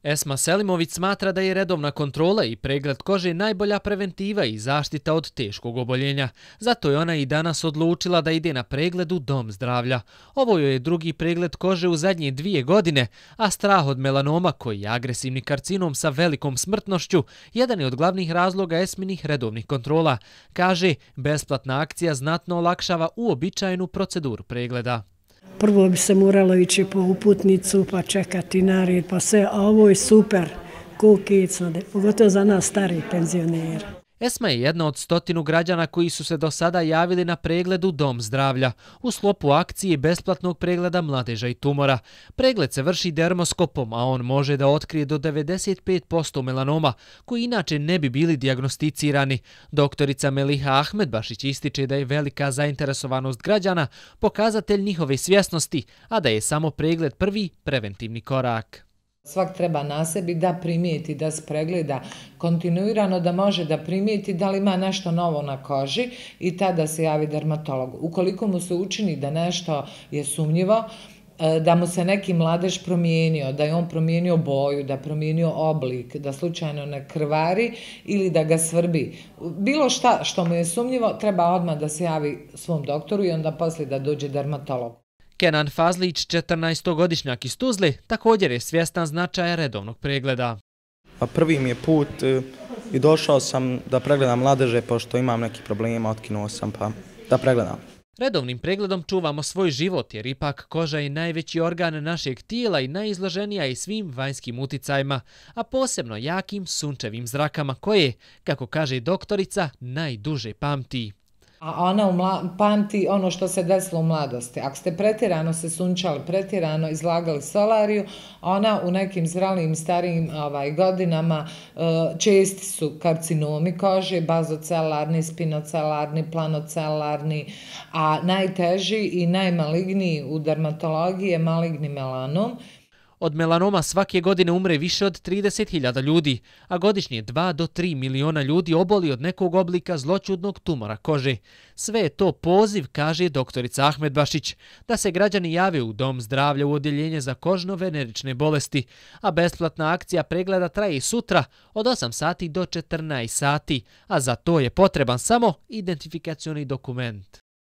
Esma Selimović smatra da je redovna kontrola i pregled kože najbolja preventiva i zaštita od teškog oboljenja. Zato je ona i danas odlučila da ide na pregled u Dom zdravlja. Ovo joj je drugi pregled kože u zadnje 2 godine, a strah od melanoma, koji je agresivni karcinom sa velikom smrtnošću, jedan je od glavnih razloga Esminih redovnih kontrola. Kaže, besplatna akcija znatno olakšava uobičajenu proceduru pregleda. Prvo bi se moralo ići po uputnicu, pa čekati nared, pa sve, a ovo je super, kukica, pogotovo za nas stari penzioneri. Esma je jedna od 100 građana koji su se do sada javili na pregled u Dom zdravlja u sklopu akcije besplatnog pregleda mladeža i tumora. Pregled se vrši dermoskopom, a on može da otkrije do 95% melanoma, koji inače ne bi bili dijagnosticirani. Doktorica Meliha Ahmedbašić ističe da je velika zainteresovanost građana pokazatelj njihove svjesnosti, a da je samo pregled prvi preventivni korak. Svak treba na sebi da primijeti, da se pregleda kontinuirano, da može da primijeti da li ima nešto novo na koži i tada se javi dermatologu. Ukoliko mu se učini da nešto je sumnjivo, da mu se neki mladež promijenio, da je on promijenio boju, da promijenio oblik, da slučajno ne krvari ili da ga svrbi. Bilo šta što mu je sumnjivo, treba odmah da se javi svom doktoru i onda poslije da dođe dermatolog. Kenan Fazlić, 14-godišnjak iz Tuzle, također je svjestan značaja redovnog pregleda. Prvi mi je put i došao sam da pregledam mladeže, pošto imam neki problema, otkinuo sam pa da pregledam. Redovnim pregledom čuvamo svoj život, jer ipak koža je najveći organ našeg tijela i najizloženija i svim vanjskim uticajima, a posebno jakim sunčevim zrakama koje, kako kaže doktorica, najduže pamti. A ona pamti ono što se desilo u mladosti. Ako ste pretjerano se sunčali, pretjerano izlagali solariju, ona u nekim zralijim starijim godinama česti su karcinomi kože, bazocelarni, spinocelarni, planocelarni, a najteži i najmaligniji u dermatologiji je maligni melanom. Od melanoma svake godine umre više od 30.000 ljudi, a godišnje 2 do 3 miliona ljudi oboli od nekog oblika zloćudnog tumora kože. Sve je to poziv, kaže doktorica Ahmedbašić, da se građani jave u Dom zdravlja u odjeljenje za kožno-venerične bolesti, a besplatna akcija pregleda traje i sutra od 8 sati do 14 sati, a za to je potreban samo identifikacioni dokument.